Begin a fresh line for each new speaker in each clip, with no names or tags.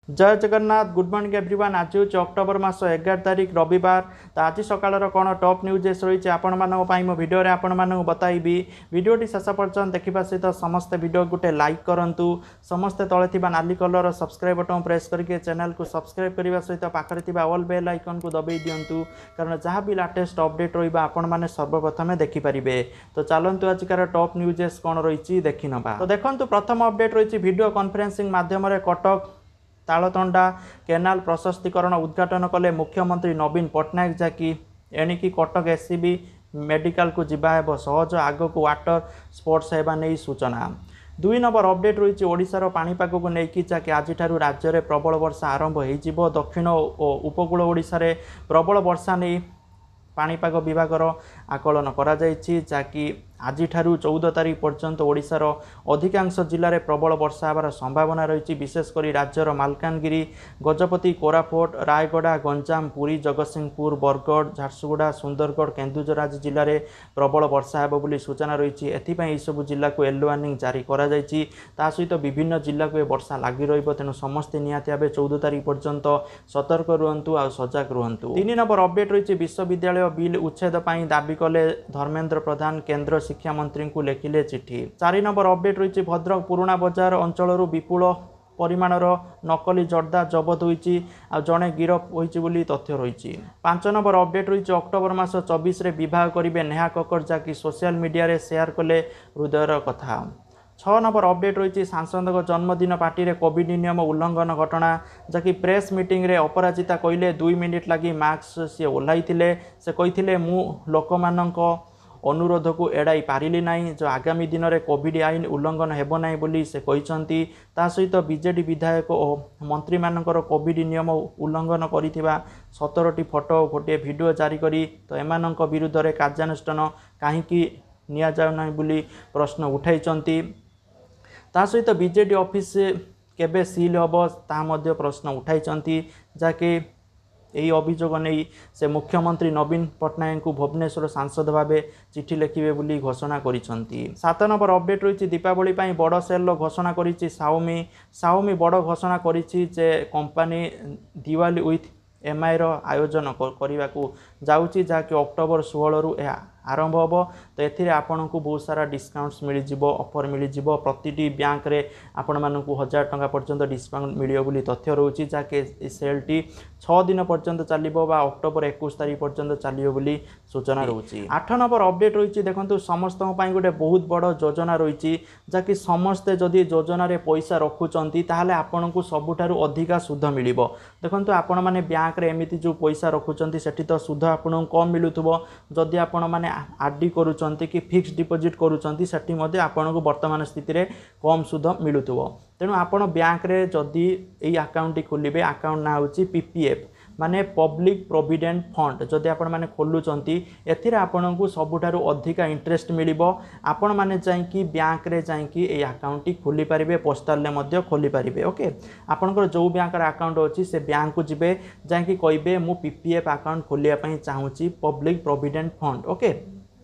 ଜୟ Jagannath, good morning everyone. ଆଜି ହେଉଛି October ମାସ 11 ତାରିଖ, ରବିବାର। ତ ଆଜି ସକାଳର କ'ଣ ଟପ୍ ନ୍ୟୁଜେସ୍ ରହିଛି ଆପଣମାନଙ୍କ ପାଇଁ ମୋ ଭିଡ଼ିଓରେ ଆପଣମାନଙ୍କୁ ବତାଇବି। ଭିଡ଼ିଓଟି ଶେଷ ପର୍ଯ୍ୟନ୍ତ ଦେଖିବା ସହିତ ସମସ୍ତେ ଭିଡ଼ିଓ ଗୋଟେ ଲାଇକ୍ କରନ୍ତୁ। ସମସ୍ତେ ତଳେ ଥିବା ନାଲି କଲର୍ର ସବସ୍କ୍ରାଇବ୍ ବଟନ୍ ପ୍ରେସ୍ କରିକି ଚ୍ୟାନେଲକୁ ସବସ୍କ୍ରାଇବ୍ କରିବା ସହିତ ପାଖରେ ଥିବା ଅଲ୍ ବେଲ୍ ଆଇକନ୍କୁ ଦବାଇ ଦିଅନ୍ତୁ, କାରଣ ଯାହା ବି ଲାଟେଷ୍ଟ ଅପଡେଟ୍ ରହିବ ଆପଣମାନେ ସର୍ବପ୍ରଥମେ ଦେଖିପାରିବେ। ତ ଚାଲନ୍ତୁ, ଆଜିକାର ଟପ୍ ନ୍ୟୁଜେସ୍ କ'ଣ ରହିଛି ଦେଖିନେବା। ତ ଦେଖନ୍ତୁ, ପ୍ରଥମ ଅପଡେଟ୍ ରହିଛି, ଭିଡ଼ିଓ କନଫରେନ୍ସିଂ ମାଧ୍ୟମରେ କଟକ ତାଳତଣ୍ଡା କେନାଲ ପ୍ରଶସ୍ତିକରଣ ଉଦ୍ଘାଟନ କଲେ ମୁଖ୍ୟମନ୍ତ୍ରୀ ନବୀନ ପଟ୍ଟନାୟକ, ଯାହାକି ଏଣିକି କଟକ ଏସ୍ସିବି ମେଡିକାଲକୁ ଯିବା ହେବ ସହଜ, ଆଗକୁ ୱାଟର ସ୍ପୋର୍ଟସ ହେବା ନେଇ ସୂଚନା। 2 ନମ୍ବର ଅପଡେଟ୍ ରହିଛି ଓଡ଼ିଶାର ପାଣିପାଗକୁ ନେଇକି, ଯାହାକି ଆଜିଠାରୁ ରାଜ୍ୟରେ ପ୍ରବଳ ବର୍ଷା ଆରମ୍ଭ ହୋଇଯିବ। ଦକ୍ଷିଣ ଓ ଉପକୂଳ ଓଡ଼ିଶାରେ ପ୍ରବଳ ବର୍ଷା ନେଇ ପାଣିପାଗ ବିଭାଗର ଆକଳନ କରାଯାଇଛି, ଯାହାକି ଆଜିଠାରୁ 14 ତାରିଖ ପର୍ଯ୍ୟନ୍ତ ଓଡ଼ିଶାର ଅଧିକାଂଶ ଜିଲ୍ଲାରେ ପ୍ରବଳ ବର୍ଷା ହେବାର ସମ୍ଭାବନା ରହିଛି। ବିଶେଷ କରି ରାଜ୍ୟର ମାଲକାନଗିରି, ଗଜପତି, କୋରାପୁଟ, ରାୟଗଡ଼ା, ଗଞ୍ଜାମ, ପୁରୀ, ଜଗତସିଂହପୁର, ବରଗଡ଼, ଝାରସୁଗୁଡ଼ା, ସୁନ୍ଦରଗଡ଼, କେନ୍ଦୁଝର ଆଦି ଜିଲ୍ଲାରେ ପ୍ରବଳ ବର୍ଷା ହେବ ବୋଲି ସୂଚନା ରହିଛି। ଏଥିପାଇଁ ଏହିସବୁ ଜିଲ୍ଲାକୁ ୟେଲୋ ୱାର୍ଣ୍ଣିଂ ଜାରି କରାଯାଇଛି। ତା ସହିତ ବିଭିନ୍ନ ଜିଲ୍ଲାକୁ ଏ ବର୍ଷା ଲାଗି ରହିବ, ତେଣୁ ସମସ୍ତେ ନିହାତି ଭାବେ 14 ତାରିଖ ପର୍ଯ୍ୟନ୍ତ ସତର୍କ ରୁହନ୍ତୁ ଆଉ ସଜାଗ ରୁହନ୍ତୁ। 3 ନମ୍ବର ଅପଡେଟ୍ ରହିଛି, ବିଶ୍ୱବିଦ୍ୟାଳୟ ବିଲ୍ ଉଚ୍ଛେଦ ପାଇଁ ଦାବି କଲେ ଧର୍ମେନ୍ଦ୍ର ପ୍ରଧାନ, କେନ୍ଦ୍ର ଶିକ୍ଷାମନ୍ତ୍ରୀଙ୍କୁ ଲେଖିଲେ ଚିଠି। 4 ନମ୍ବର ଅପଡେଟ୍ ରହିଛି, ଭଦ୍ରକ ପୁରୁଣା ବଜାର ଅଞ୍ଚଳରୁ ବିପୁଳ ପରିମାଣର ନକଲି ଜର୍ଦ୍ଦା ଜବତ ହୋଇଛି ଆଉ ଜଣେ ଗିରଫ ହୋଇଛି ବୋଲି ତଥ୍ୟ ରହିଛି। 5 ନମ୍ବର ଅପଡେଟ୍ ରହିଛି, ଅକ୍ଟୋବର ମାସ 24ରେ ବିବାହ କରିବେ ନେହା କକ୍କର, ଯାହାକି ସୋସିଆଲ ମିଡ଼ିଆରେ ସେୟାର କଲେ ହୃଦୟର କଥା। 6 ନମ୍ବର ଅପଡେଟ୍ ରହିଛି, ସାଂସଦଙ୍କ ଜନ୍ମଦିନ ପାର୍ଟିରେ କୋଭିଡ୍ ନିୟମ ଉଲ୍ଲଂଘନ ଘଟଣା, ଯାହାକି ପ୍ରେସ୍ ମିଟିଂରେ ଅପରାଜିତା କହିଲେ 2 ମିନିଟ୍ ଲାଗି ମାସ୍କ ସିଏ ଓହ୍ଲାଇଥିଲେ। ସେ କହିଥିଲେ, ମୁଁ ଲୋକମାନଙ୍କ ଅନୁରୋଧକୁ ଏଡ଼ାଇ ପାରିଲି ନାହିଁ। ଯେଉଁ ଆଗାମୀ ଦିନରେ କୋଭିଡ୍ ଆଇନ ଉଲ୍ଲଂଘନ ହେବ ନାହିଁ ବୋଲି ସେ କହିଛନ୍ତି। ତା ସହିତ ବିଜେଡି ବିଧାୟକ ଓ ମନ୍ତ୍ରୀମାନଙ୍କର କୋଭିଡ୍ ନିୟମ ଉଲ୍ଲଂଘନ କରିଥିବା 17ଟି ଫଟୋ, ଗୋଟିଏ ଭିଡ଼ିଓ ଜାରି କରି ତ ଏମାନଙ୍କ ବିରୁଦ୍ଧରେ କାର୍ଯ୍ୟାନୁଷ୍ଠାନ କାହିଁକି ନିଆଯାଉନାହିଁ ବୋଲି ପ୍ରଶ୍ନ ଉଠାଇଛନ୍ତି। ତା ସହିତ ବିଜେଡି ଅଫିସ କେବେ ସିଲ୍ ହେବ ତାହା ମଧ୍ୟ ପ୍ରଶ୍ନ ଉଠାଇଛନ୍ତି, ଯାହାକି ଏହି ଅଭିଯୋଗ ନେଇ ସେ ମୁଖ୍ୟମନ୍ତ୍ରୀ ନବୀନ ପଟ୍ଟନାୟକଙ୍କୁ ଭୁବନେଶ୍ୱର ସାଂସଦ ଭାବେ ଚିଠି ଲେଖିବେ ବୋଲି ଘୋଷଣା କରିଛନ୍ତି। 7 ନମ୍ବର ଅପଡେଟ୍ ରହିଛି, ଦୀପାବଳି ପାଇଁ ବଡ଼ ସେଲ୍ର ଘୋଷଣା କରିଛି ସାଓମି। ସାଓମି ବଡ଼ ଘୋଷଣା କରିଛି ଯେ କମ୍ପାନୀ ଦିୱାଲି ୱିଥ୍ ଏମ୍ଆଇର ଆୟୋଜନ କରିବାକୁ ଯାଉଛି, ଯାହାକି ଅକ୍ଟୋବର 16ରୁ ଏହା ଆରମ୍ଭ ହେବ। ତ ଏଥିରେ ଆପଣଙ୍କୁ ବହୁତ ସାରା ଡିସକାଉଣ୍ଟସ୍ ମିଳିଯିବ, ଅଫର୍ ମିଳିଯିବ। ପ୍ରତିଟି ବ୍ୟାଙ୍କରେ ଆପଣମାନଙ୍କୁ 1000 ଟଙ୍କା ପର୍ଯ୍ୟନ୍ତ ଡିସକାଉଣ୍ଟ ମିଳିବ ବୋଲି ତଥ୍ୟ ରହୁଛି, ଯାହାକି ଏ ସେଲ୍ଟି 6 ଦିନ ପର୍ଯ୍ୟନ୍ତ ଚାଲିବ ବା ଅକ୍ଟୋବର 21 ତାରିଖ ପର୍ଯ୍ୟନ୍ତ ଚାଲିବ ବୋଲି ସୂଚନା ରହୁଛି। 8 ନମ୍ବର ଅପଡେଟ୍ ରହିଛି, ଦେଖନ୍ତୁ, ସମସ୍ତଙ୍କ ପାଇଁ ଗୋଟେ ବହୁତ ବଡ଼ ଯୋଜନା ରହିଛି, ଯାହାକି ସମସ୍ତେ ଯଦି ଯୋଜନାରେ ପଇସା ରଖୁଛନ୍ତି ତାହେଲେ ଆପଣଙ୍କୁ ସବୁଠାରୁ ଅଧିକା ସୁଧ ମିଳିବ। ଦେଖନ୍ତୁ, ଆପଣମାନେ ବ୍ୟାଙ୍କରେ ଏମିତି ଯେଉଁ ପଇସା ରଖୁଛନ୍ତି ସେଠି ତ ସୁଧ ଆପଣଙ୍କୁ କମ୍ ମିଳୁଥିବ। ଯଦି ଆପଣମାନେ ଆର୍ ଡି କରୁଛନ୍ତି କି ଫିକ୍ସଡ ଡିପୋଜିଟ୍ କରୁଛନ୍ତି, ସେଠି ମଧ୍ୟ ଆପଣଙ୍କୁ ବର୍ତ୍ତମାନ ସ୍ଥିତିରେ କମ୍ ସୁଧ ମିଳୁଥିବ। ତେଣୁ ଆପଣ ବ୍ୟାଙ୍କରେ ଯଦି ଏଇ ଆକାଉଣ୍ଟଟି ଖୋଲିବେ, ଆକାଉଣ୍ଟ ନାଁ ହେଉଛି ପି ପି ଏଫ୍, ମାନେ ପବ୍ଲିକ୍ ପ୍ରୋଭିଡେଣ୍ଟ ଫଣ୍ଡ, ଯଦି ଆପଣମାନେ ଖୋଲୁଛନ୍ତି ଏଥିରେ ଆପଣଙ୍କୁ ସବୁଠାରୁ ଅଧିକା ଇଣ୍ଟରେଷ୍ଟ ମିଳିବ। ଆପଣମାନେ ଯାଇକି ବ୍ୟାଙ୍କରେ ଯାଇକି ଏଇ ଆକାଉଣ୍ଟଟି ଖୋଲିପାରିବେ, ପୋଷ୍ଟାଲରେ ମଧ୍ୟ ଖୋଲିପାରିବେ। ଓକେ, ଆପଣଙ୍କର ଯେଉଁ ବ୍ୟାଙ୍କର ଆକାଉଣ୍ଟ ଅଛି ସେ ବ୍ୟାଙ୍କକୁ ଯିବେ, ଯାଇକି କହିବେ ମୁଁ ପି ପି ଏଫ୍ ଆକାଉଣ୍ଟ ଖୋଲିବା ପାଇଁ ଚାହୁଁଛି, ପବ୍ଲିକ୍ ପ୍ରୋଭିଡେଣ୍ଟ ଫଣ୍ଡ। ଓକେ,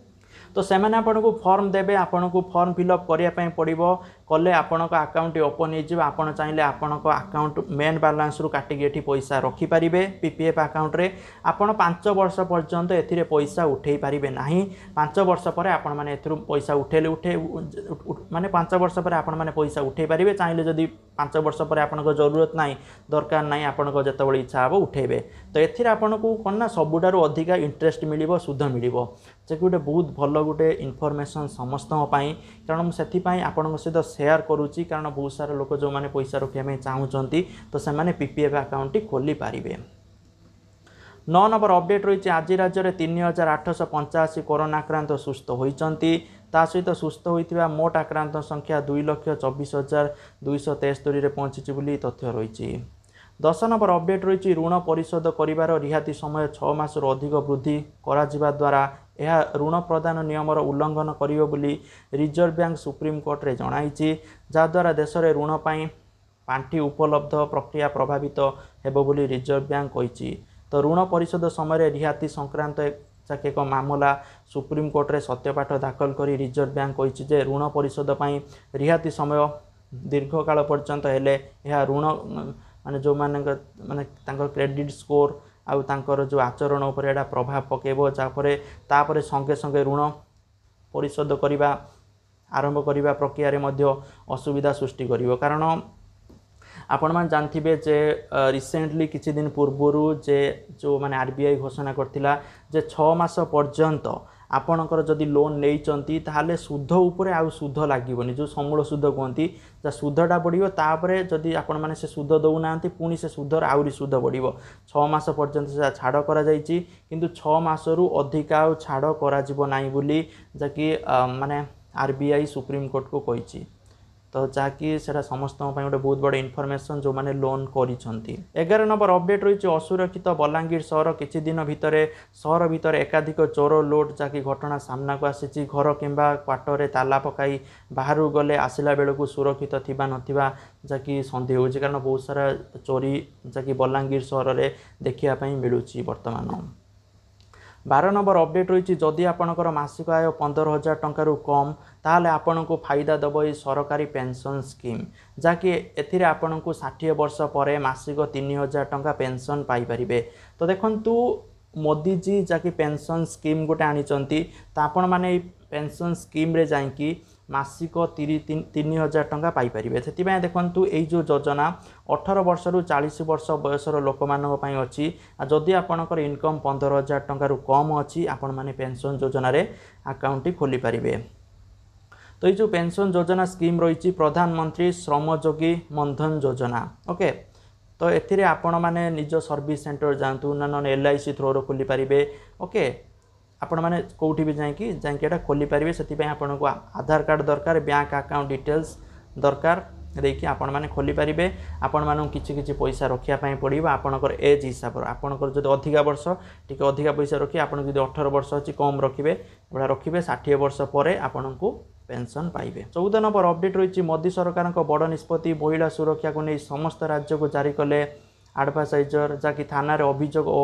ତ ସେମାନେ ଆପଣଙ୍କୁ ଫର୍ମ ଦେବେ, ଆପଣଙ୍କୁ ଫର୍ମ ଫିଲ୍ଅପ୍ କରିବା ପାଇଁ ପଡ଼ିବ। କଲେ ଆପଣଙ୍କ ଆକାଉଣ୍ଟଟି ଓପନ୍ ହେଇଯିବ। ଆପଣ ଚାହିଁଲେ ଆପଣଙ୍କ ଆକାଉଣ୍ଟ ମେନ୍ ବାଲାନ୍ସରୁ କାଟିକି ଏଠି ପଇସା ରଖିପାରିବେ। ପି ପି ଏଫ୍ ଆକାଉଣ୍ଟରେ ଆପଣ 5 ବର୍ଷ ପର୍ଯ୍ୟନ୍ତ ଏଥିରେ ପଇସା ଉଠେଇ ପାରିବେ ନାହିଁ। 5 ବର୍ଷ ପରେ ଆପଣମାନେ ଏଥିରୁ ପଇସା ଉଠେଇଲେ ଉଠେଇ, ମାନେ 5 ବର୍ଷ ପରେ ଆପଣମାନେ ପଇସା ଉଠେଇ ପାରିବେ। ଚାହିଁଲେ ଯଦି 5 ବର୍ଷ ପରେ ଆପଣଙ୍କ ଜରୁରତ ନାହିଁ, ଦରକାର ନାହିଁ, ଆପଣଙ୍କ ଯେତେବେଳେ ଇଚ୍ଛା ହେବ ଉଠେଇବେ। ତ ଏଥିରେ ଆପଣଙ୍କୁ କ'ଣ ନା ସବୁଠାରୁ ଅଧିକା ଇଣ୍ଟରେଷ୍ଟ ମିଳିବ, ସୁଧ ମିଳିବ, ଯେ ଗୋଟେ ବହୁତ ଭଲ ଗୋଟେ ଇନଫର୍ମେସନ୍ ସମସ୍ତଙ୍କ ପାଇଁ। କାରଣ ମୁଁ ସେଥିପାଇଁ ଆପଣଙ୍କ ସହିତ ସେୟାର କରୁଛି, କାରଣ ବହୁତ ସାରା ଲୋକ ଯେଉଁମାନେ ପଇସା ରଖିବା ପାଇଁ ଚାହୁଁଛନ୍ତି ତ ସେମାନେ ପି ପି ଏଫ୍ ଆକାଉଣ୍ଟଟି ଖୋଲିପାରିବେ। 9 ନମ୍ବର ଅପଡେଟ୍ ରହିଛି, ଆଜି ରାଜ୍ୟରେ 3885 କରୋନା ଆକ୍ରାନ୍ତ ସୁସ୍ଥ ହୋଇଛନ୍ତି। ତା ସହିତ ସୁସ୍ଥ ହୋଇଥିବା ମୋଟ ଆକ୍ରାନ୍ତ ସଂଖ୍ୟା 2,24,273ରେ ପହଞ୍ଚିଛି ବୋଲି ତଥ୍ୟ ରହିଛି। 10 ନମ୍ବର ଅପଡେଟ୍ ରହିଛି, ଋଣ ପରିଶୋଧ କରିବାର ରିହାତି ସମୟ 6 ମାସରୁ ଅଧିକ ବୃଦ୍ଧି କରାଯିବା ଦ୍ୱାରା ଏହା ଋଣ ପ୍ରଦାନ ନିୟମର ଉଲ୍ଲଂଘନ କରିବ ବୋଲି ରିଜର୍ଭ ବ୍ୟାଙ୍କ ସୁପ୍ରିମକୋର୍ଟରେ ଜଣାଇଛି, ଯାହାଦ୍ୱାରା ଦେଶରେ ଋଣ ପାଇଁ ପାଣ୍ଠି ଉପଲବ୍ଧ ପ୍ରକ୍ରିୟା ପ୍ରଭାବିତ ହେବ ବୋଲି ରିଜର୍ଭ ବ୍ୟାଙ୍କ କହିଛି। ତ ଋଣ ପରିଶୋଧ ସମୟରେ ରିହାତି ସଂକ୍ରାନ୍ତ ଏକ ମାମଲା ସୁପ୍ରିମକୋର୍ଟରେ ସତ୍ୟପାଠ ଦାଖଲ କରି ରିଜର୍ଭ ବ୍ୟାଙ୍କ କହିଛି ଯେ ଋଣ ପରିଶୋଧ ପାଇଁ ରିହାତି ସମୟ ଦୀର୍ଘକାଳ ପର୍ଯ୍ୟନ୍ତ ହେଲେ ଏହା ଋଣ ମାନେ ଯେଉଁମାନଙ୍କ ମାନେ ତାଙ୍କର କ୍ରେଡ଼ିଟ୍ ସ୍କୋର୍ ଆଉ ତାଙ୍କର ଯେଉଁ ଆଚରଣ ଉପରେ ଏଇଟା ପ୍ରଭାବ ପକାଇବ, ଯାହାପରେ ତାପରେ ସଙ୍ଗେ ସଙ୍ଗେ ଋଣ ପରିଶୋଧ କରିବା ଆରମ୍ଭ କରିବା ପ୍ରକ୍ରିୟାରେ ମଧ୍ୟ ଅସୁବିଧା ସୃଷ୍ଟି କରିବ। କାରଣ ଆପଣମାନେ ଜାଣିଥିବେ ଯେ ରିସେଣ୍ଟଲି କିଛି ଦିନ ପୂର୍ବରୁ ଯେ ଯେଉଁ ମାନେ RBI ଘୋଷଣା କରିଥିଲା ଯେ 6 ମାସ ପର୍ଯ୍ୟନ୍ତ ଆପଣଙ୍କର ଯଦି ଲୋନ୍ ନେଇଛନ୍ତି ତାହେଲେ ସୁଧ ଉପରେ ଆଉ ସୁଧ ଲାଗିବନି, ଯେଉଁ ସମୂଳ ସୁଧ କୁହନ୍ତି, ଯାହା ସୁଧଟା ବଢ଼ିବ। ତାପରେ ଯଦି ଆପଣମାନେ ସେ ସୁଧ ଦେଉନାହାନ୍ତି ପୁଣି ସେ ସୁଧର ଆହୁରି ସୁଧ ବଢ଼ିବ। 6 ମାସ ପର୍ଯ୍ୟନ୍ତ ସେଟା ଛାଡ଼ କରାଯାଇଛି, କିନ୍ତୁ 6 ମାସରୁ ଅଧିକା ଆଉ ଛାଡ଼ କରାଯିବ ନାହିଁ ବୋଲି ଯାହାକି ମାନେ RBI ସୁପ୍ରିମକୋର୍ଟକୁ କହିଛି। ତ ଯାହାକି ସେଇଟା ସମସ୍ତଙ୍କ ପାଇଁ ଗୋଟେ ବହୁତ ବଡ଼ ଇନଫର୍ମେସନ୍ ଯେଉଁମାନେ ଲୋନ୍ କରିଛନ୍ତି। 11 ନମ୍ବର ଅପଡ଼େଟ୍ ରହିଛି ଅସୁରକ୍ଷିତ ବଲାଙ୍ଗୀର ସହର। କିଛି ଦିନ ଭିତରେ ସହର ଭିତରେ ଏକାଧିକ ଚୋର ଲୁଟ୍ ଯାହାକି ଘଟଣା ସାମ୍ନାକୁ ଆସିଛି। ଘର କିମ୍ବା କ୍ୱାର୍ଟରରେ ତାଲା ପକାଇ ବାହାରକୁ ଗଲେ ଆସିଲା ବେଳକୁ ସୁରକ୍ଷିତ ଥିବା ନଥିବା ଯାହାକି ସନ୍ଦେହ ହେଉଛି, କାରଣ ବହୁତ ସାରା ଚୋରି ଯାହାକି ବଲାଙ୍ଗୀର ସହରରେ ଦେଖିବା ପାଇଁ ମିଳୁଛି ବର୍ତ୍ତମାନ। 12 ନମ୍ବର ଅପଡ଼େଟ୍ ରହିଛି ଯଦି ଆପଣଙ୍କର ମାସିକ ଆୟ 15,000 ଟଙ୍କାରୁ କମ୍ ତାହେଲେ ଆପଣଙ୍କୁ ଫାଇଦା ଦେବ ଏଇ ସରକାରୀ ପେନ୍ସନ୍ ସ୍କିମ୍, ଯାହାକି ଏଥିରେ ଆପଣଙ୍କୁ 60 ବର୍ଷ ପରେ ମାସିକ 3,000 ଟଙ୍କା ପେନ୍ସନ୍ ପାଇପାରିବେ। ତ ଦେଖନ୍ତୁ ମୋଦିଜୀ ଯାହାକି ପେନ୍ସନ୍ ସ୍କିମ୍ ଗୋଟେ ଆଣିଛନ୍ତି, ତ ଆପଣମାନେ ଏଇ ପେନ୍ସନ୍ ସ୍କିମ୍ରେ ଯାଇକି ମାସିକ 3,000 ଟଙ୍କା ପାଇପାରିବେ। ସେଥିପାଇଁ ଦେଖନ୍ତୁ ଏଇ ଯେଉଁ ଯୋଜନା 18 ବର୍ଷରୁ 40 ବର୍ଷ ବୟସର ଲୋକମାନଙ୍କ ପାଇଁ ଅଛି। ଆଉ ଯଦି ଆପଣଙ୍କର ଇନକମ୍ 15,000 ଟଙ୍କାରୁ କମ୍ ଅଛି ଆପଣମାନେ ପେନ୍ସନ୍ ଯୋଜନାରେ ଆକାଉଣ୍ଟଟି ଖୋଲିପାରିବେ। ତ ଏଇ ଯେଉଁ ପେନ୍ସନ୍ ଯୋଜନା ସ୍କିମ୍ ରହିଛି ପ୍ରଧାନମନ୍ତ୍ରୀ ଶ୍ରମଯୋଗୀ ମନ୍ଧନ ଯୋଜନା, ଓକେ। ତ ଏଥିରେ ଆପଣମାନେ ନିଜ ସର୍ଭିସ୍ ସେଣ୍ଟର ଯାଆନ୍ତୁ ନା ନହେଲେ LIC ଥ୍ରୋରୁ ଖୋଲିପାରିବେ, ଓକେ। ଆପଣମାନେ କେଉଁଠି ବି ଯାଇକି ଏଇଟା ଖୋଲିପାରିବେ। ସେଥିପାଇଁ ଆପଣଙ୍କୁ ଆଧାର କାର୍ଡ଼ ଦରକାର, ବ୍ୟାଙ୍କ ଆକାଉଣ୍ଟ ଡିଟେଲ୍ସ ଦରକାର ଦେଇକି ଆପଣମାନେ ଖୋଲିପାରିବେ। ଆପଣମାନଙ୍କୁ କିଛି କିଛି ପଇସା ରଖିବା ପାଇଁ ପଡ଼ିବ ଆପଣଙ୍କର ଏଜ୍ ହିସାବରେ। ଆପଣଙ୍କର ଯଦି ଅଧିକା ବର୍ଷ ଟିକେ ଅଧିକା ପଇସା ରଖିବେ, ଆପଣଙ୍କୁ ଯଦି 18 ବର୍ଷ ଅଛି କମ୍ ରଖିବେ, ଏଭଳିଆ ରଖିବେ। 60 ବର୍ଷ ପରେ ଆପଣଙ୍କୁ ପେନ୍ସନ୍ ପାଇବେ। 14 ନମ୍ବର ଅପଡ଼େଟ୍ ରହିଛି ମୋଦି ସରକାରଙ୍କ ବଡ଼ ନିଷ୍ପତ୍ତି, ମହିଳା ସୁରକ୍ଷାକୁ ନେଇ ସମସ୍ତ ରାଜ୍ୟକୁ ଜାରି କଲେ ଆଡ଼ଭାଇଜର, ଯାହାକି ଥାନାରେ ଅଭିଯୋଗ ଓ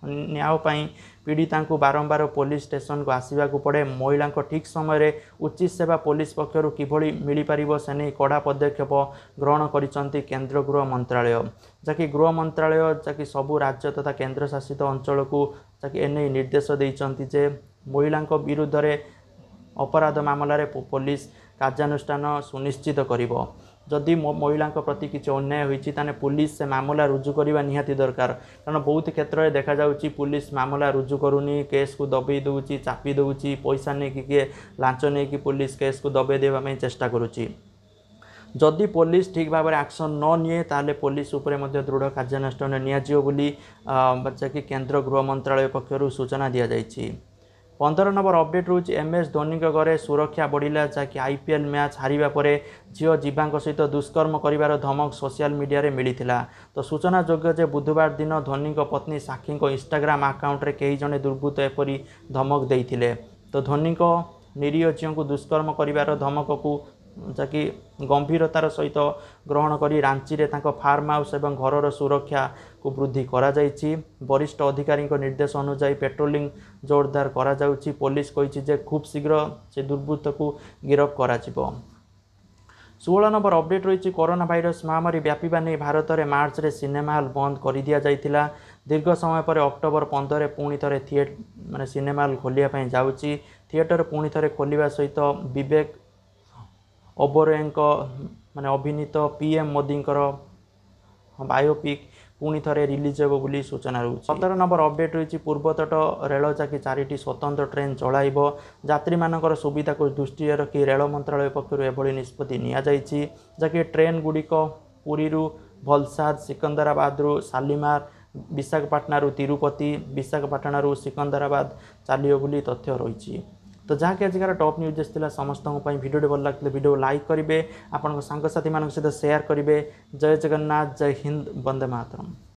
ନ୍ୟାୟ ପାଇଁ ପୀଡ଼ିତାଙ୍କୁ ବାରମ୍ବାର ପୋଲିସ ଷ୍ଟେସନକୁ ଆସିବାକୁ ପଡ଼େ। ମହିଳାଙ୍କ ଠିକ୍ ସମୟରେ ଉଚିତ ସେବା ପୋଲିସ ପକ୍ଷରୁ କିଭଳି ମିଳିପାରିବ ସେ ନେଇ କଡ଼ା ପଦକ୍ଷେପ ଗ୍ରହଣ କରିଛନ୍ତି କେନ୍ଦ୍ର ଗୃହ ମନ୍ତ୍ରାଳୟ, ଯାହାକି ଗୃହ ମନ୍ତ୍ରାଳୟ ଯାହାକି ସବୁ ରାଜ୍ୟ ତଥା କେନ୍ଦ୍ରଶାସିତ ଅଞ୍ଚଳକୁ ଯାହାକି ଏନେଇ ନିର୍ଦ୍ଦେଶ ଦେଇଛନ୍ତି ଯେ ମହିଳାଙ୍କ ବିରୁଦ୍ଧରେ ଅପରାଧ ମାମଲାରେ ପୋଲିସ କାର୍ଯ୍ୟାନୁଷ୍ଠାନ ସୁନିଶ୍ଚିତ କରିବ। ଯଦି ମହିଳାଙ୍କ ପ୍ରତି କିଛି ଅନ୍ୟାୟ ହୋଇଛି ତାହେଲେ ପୋଲିସ ସେ ମାମଲା ରୁଜୁ କରିବା ନିହାତି ଦରକାର, କାରଣ ବହୁତ କ୍ଷେତ୍ରରେ ଦେଖାଯାଉଛି ପୋଲିସ ମାମଲା ରୁଜୁ କରୁନି, କେସ୍କୁ ଦବେଇ ଦେଉଛି, ଚାପି ଦେଉଛି, ପଇସା ନେଇକି କିଏ ଲାଞ୍ଚ ନେଇକି ପୋଲିସ କେସ୍କୁ ଦବେଇ ଦେବା ପାଇଁ ଚେଷ୍ଟା କରୁଛି। ଯଦି ପୋଲିସ ଠିକ୍ ଭାବରେ ଆକ୍ସନ୍ ନ ନିଏ ତାହେଲେ ପୋଲିସ ଉପରେ ମଧ୍ୟ ଦୃଢ଼ କାର୍ଯ୍ୟାନୁଷ୍ଠାନ ନିଆଯିବ ବୋଲି ଯାହାକି କେନ୍ଦ୍ର ଗୃହ ମନ୍ତ୍ରାଳୟ ପକ୍ଷରୁ ସୂଚନା ଦିଆଯାଇଛି। 15 ନମ୍ବର ଅପଡ଼େଟ୍ ରହୁଛି MS ଧୋନିଙ୍କ ଘରେ ସୁରକ୍ଷା ବଢ଼ିଲା, ଯାହାକି IPL match ହାରିବା ପରେ ଝିଅ ଜୀବାଙ୍କ ସହିତ ଦୁଷ୍କର୍ମ କରିବାର ଧମକ ସୋସିଆଲ ମିଡ଼ିଆରେ ମିଳିଥିଲା। ତ ସୂଚନାଯୋଗ୍ୟ ଯେ ବୁଧବାର ଦିନ ଧୋନିଙ୍କ ପତ୍ନୀ ସାକ୍ଷୀଙ୍କ ଇନଷ୍ଟାଗ୍ରାମ ଆକାଉଣ୍ଟରେ କେହି ଜଣେ ଦୁର୍ବୃତ୍ତ ଏପରି ଧମକ ଦେଇଥିଲେ। ତ ଧୋନିଙ୍କ ନିରୀହ ଝିଅଙ୍କୁ ଦୁଷ୍କର୍ମ କରିବାର ଧମକକୁ ଯାହାକି ଗମ୍ଭୀରତାର ସହିତ ଗ୍ରହଣ କରି ରାଞ୍ଚିରେ ତାଙ୍କ ଫାର୍ମ ହାଉସ୍ ଏବଂ ଘରର ସୁରକ୍ଷାକୁ ବୃଦ୍ଧି କରାଯାଇଛି। ବରିଷ୍ଠ ଅଧିକାରୀଙ୍କ ନିର୍ଦ୍ଦେଶ ଅନୁଯାୟୀ ପେଟ୍ରୋଲିଂ ଜୋରଦାର କରାଯାଉଛି। ପୋଲିସ କହିଛି ଯେ ଖୁବ୍ ଶୀଘ୍ର ସେ ଦୁର୍ବୃତ୍ତକୁ ଗିରଫ କରାଯିବ। 16 ନମ୍ବର ଅପଡ଼େଟ୍ ରହିଛି କରୋନା ଭାଇରସ ମହାମାରୀ ବ୍ୟାପିବା ନେଇ ଭାରତରେ ମାର୍ଚ୍ଚରେ ସିନେମା ହଲ୍ ବନ୍ଦ କରିଦିଆଯାଇଥିଲା। ଦୀର୍ଘ ସମୟ ପରେ ଅକ୍ଟୋବର 15 ପୁଣି ଥରେ ମାନେ ସିନେମା ହଲ୍ ଖୋଲିବା ପାଇଁ ଯାଉଛି। ଥିଏଟର ପୁଣି ଥରେ ଖୋଲିବା ସହିତ ବିବେକ ଓବରୟଙ୍କ ମାନେ ଅଭିନୀତ PM ମୋଦିଙ୍କର ବାୟୋପିକ୍ ପୁଣି ଥରେ ରିଲିଜ୍ ହେବ ବୋଲି ସୂଚନା ରହୁଛି। 17 ନମ୍ବର ଅପଡ଼େଟ୍ ରହିଛି ପୂର୍ବତଟ ରେଳ ଯାକି 4ଟି ସ୍ୱତନ୍ତ୍ର ଟ୍ରେନ୍ ଚଳାଇବ। ଯାତ୍ରୀମାନଙ୍କର ସୁବିଧାକୁ ଦୃଷ୍ଟିରେ ରଖି ରେଳ ମନ୍ତ୍ରାଳୟ ପକ୍ଷରୁ ଏଭଳି ନିଷ୍ପତ୍ତି ନିଆଯାଇଛି। ଯାହାକି ଟ୍ରେନ୍ ଗୁଡ଼ିକ ପୁରୀରୁ ଭଲସାଦ, ସିକନ୍ଦରାବାଦରୁ ଶାଲିମାର, ବିଶାଖାପାଟଣାରୁ ତିରୁପତି, ବିଶାଖାପାଟଣାରୁ ସିକନ୍ଦରାବାଦ ଚାଲିବ ବୋଲି ତଥ୍ୟ ରହିଛି। ତ ଯାହାକି ଆଜିକାର ଟପ୍ ନ୍ୟୁଜ୍ ଥିଲା ସମସ୍ତଙ୍କ ପାଇଁ। ଭିଡ଼ିଓଟି ଭଲ ଲାଗିଥିଲେ ଭିଡ଼ିଓ ଲାଇକ୍ କରିବେ, ଆପଣଙ୍କ ସାଙ୍ଗସାଥିମାନଙ୍କ ସହିତ ସେୟାର କରିବେ। ଜୟ ଜଗନ୍ନାଥ, ଜୟ ହିନ୍ଦ, ବନ୍ଦେ ମାତରମ୍।